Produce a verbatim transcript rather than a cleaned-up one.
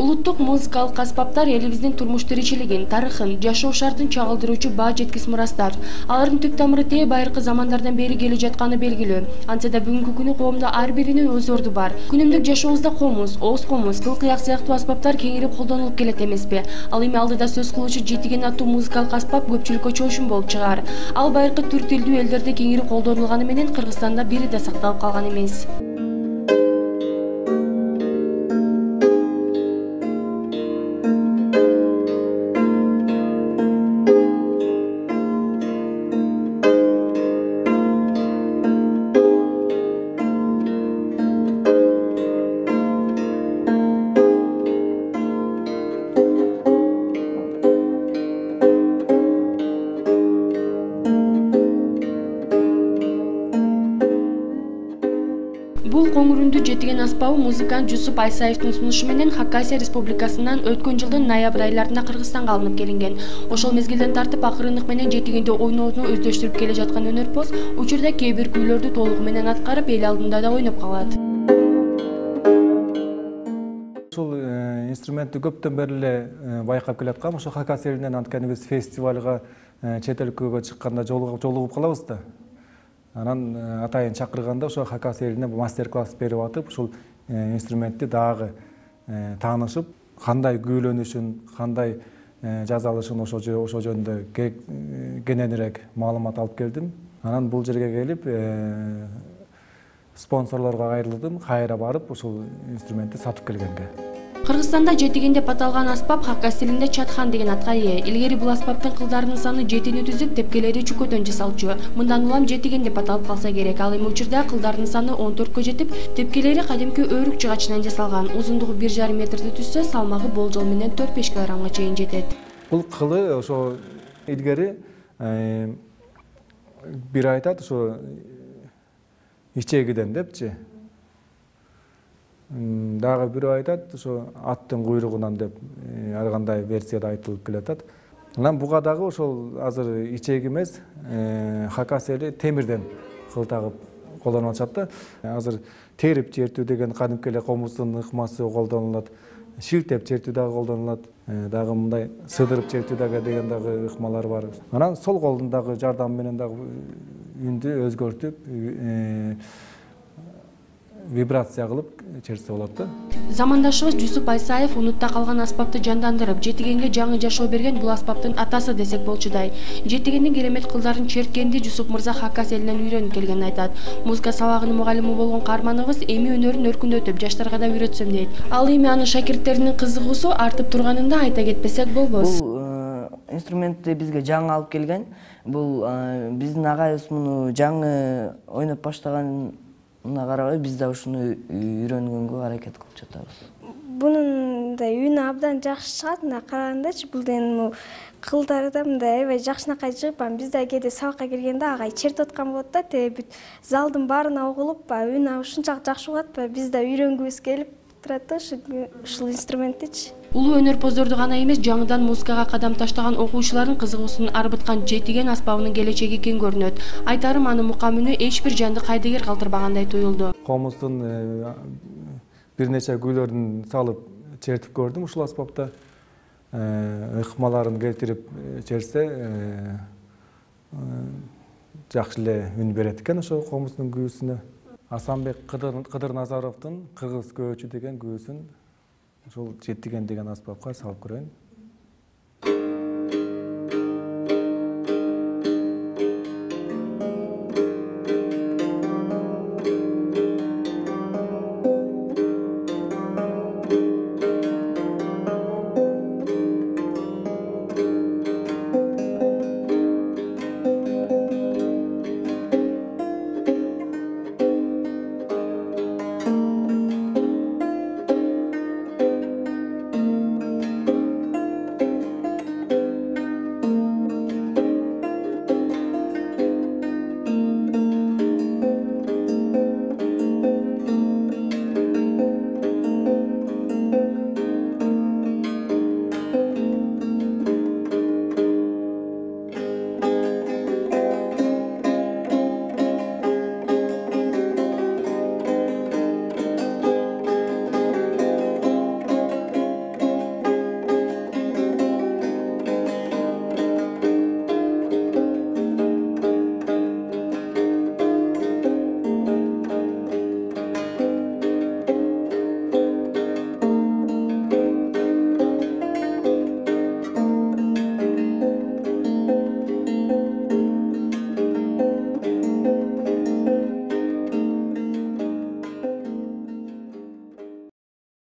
Улуттук музыкалык аспаптар элибиздин турмуш тиричилигин, тарыхын, жашоо шартын чагылдыруучу баа жеткис мурастар. Алардын түп тамыры тээ байыркы замандардан бери келе жатканы белгилүү. Антсе да бүгүнкү күнү коомдо ар биринин өз орду бар. Күнүмдүк жашообузда комуз, ооз комуз, кыл кыяк сыяктуу аспаптар кеңирип колдонулуп келет эмеспи? Ал эми алдыда сөз кылуучу жетиген аттуу музыкалык аспап көпчүлүккө чоошун болуп чыгаар. Ал байыркы түрк тилдүү элдерде кеңири колдонулганы менен Кыргызстанда бири да сакталып калган эмес. Бул коңурундуу жетиген аспабы музыкант Жусуп Айсаевдин сунушу менен Хакасия Республикасынан өткөн жылдын ноябрь айларында Кыргызстанга алынып келинген. Ошол мезгилден тартып акырындык менен жетигенде ойноону өздөштүрүп келе жаткан өнөрпоз учурда кээ бир күүлөрдү толугу менен аткарып, эл алдында да ойноп калат. Ушул инструментти көптөн бери эле байкап келаткам. Ошо Хакасия элинен анткени биз фестивалга, чет өлкөгө чыкканда жолугуп калабыз да. Анан атайын чакырганда ошо Хакасия элине мастер-класс берип атып, ушул инструментти дагы таанышып, кандай күүлөнүшүн, кандай жазалышын ошо ошо жөнүндө кененирээк маалымат алып келдим. Анан бул жерге келип, спонсорлорго кайрылдым, кайра барып ушул инструментти сатып келгенге. Кыргызстанда жетиген деп аталган аспап Хакасия элинде чатхан деген атка ээ. Илгери бул аспаптын кылдарынын саны жетини түзүп, тепкелери чүкөдөн жасалчу. Мындан улам жетиген деп аталып калса керек. Ал эми учурда кылдарынын саны он төрткө жетип, тепкелери кадимки өрүк жыгачынан жасалган. Узундугу бир жарым метрди түзсө, салмагы болжол менен төрт беш килограммга чейин жетет. Бул кылы ошо илгери бир айтат ошо ичегиден депчи. Дагы бирөө айтат ошо аттын куйругунан деп ар кандай версияда айтылып келатат. Анан буга дагы ошол азыр ичеги эмес, Хакасия эли темирден кыл тагып колдонуп атышат да. Азыр терип чертүү деген кадимки эле комуздун ыкмасы колдонулат. Шилтеп чертүү дагы колдонулат. Дагы мындай сыдырып чертүү дагы деген дагы ыкмалар бар. Анан сол колдун дагы жардамы менен дагы үндү өзгөртүп, вибрация кылып чертсе болот да. Замандашыбыз Жусуп Айсаев унутта калган аспапты жандандырып, жетигенге жаңы жашоо берген бул аспаптын атасы десек болчудай. Жетигендин керемет кылдарын черткенди Жусуп мырза Хакасия элинен үйрөнүп келгенин айтат. Музыка сабагынын мугалими болгон каарманыбыз эми өнөрүн өркүндөтүп, жаштарга да үйрөтсөм дейт. Ал эми анын шакирттеринин кызыгуусу артып турганын да айта кетпесек болбос. Бул инструментти бизге жаңы алып келген. Бул биздин агайыбыз муну жаңы ойноп баштаган Мына карабай биз да ушуну үйрөнгөнгө аракет кылып жатабыз. Бунун да үнү абдан жакшы чыгат, мына карагандачы, бул деген кылдары да мындай аябай жакшынакай чыгып, биз да кээде сабакка киргенде агай чертип аткан болот да, те бүт залдын баарына угулуп, үнү ушунчалык жакшы угат, биз да үйрөнгүбүз келип турат да ушул инструменттичи. Улуу өнөрпоздорду гана эмес, жаңыдан музыкага кадам таштаган окуучулардын кызыгуусун арбыткан жетиген аспабынын келечеги кең көрүнөт. Айтарым, анын мукам үнү эч бир жанды кайдыгер калтырбагандай туюлду. Комуздун бир нече күүлөрүн салып чертип көрдүм ушул аспапта. Ыкмаларын келтирип чертсе, жакшы эле үн берет экен ошо комуздун күүсүнө. Асанбек Кыдыр Назаровдун Кыргыз көөчү деген күүсүн ошол жетиген деген аспапка салып көрөйүн.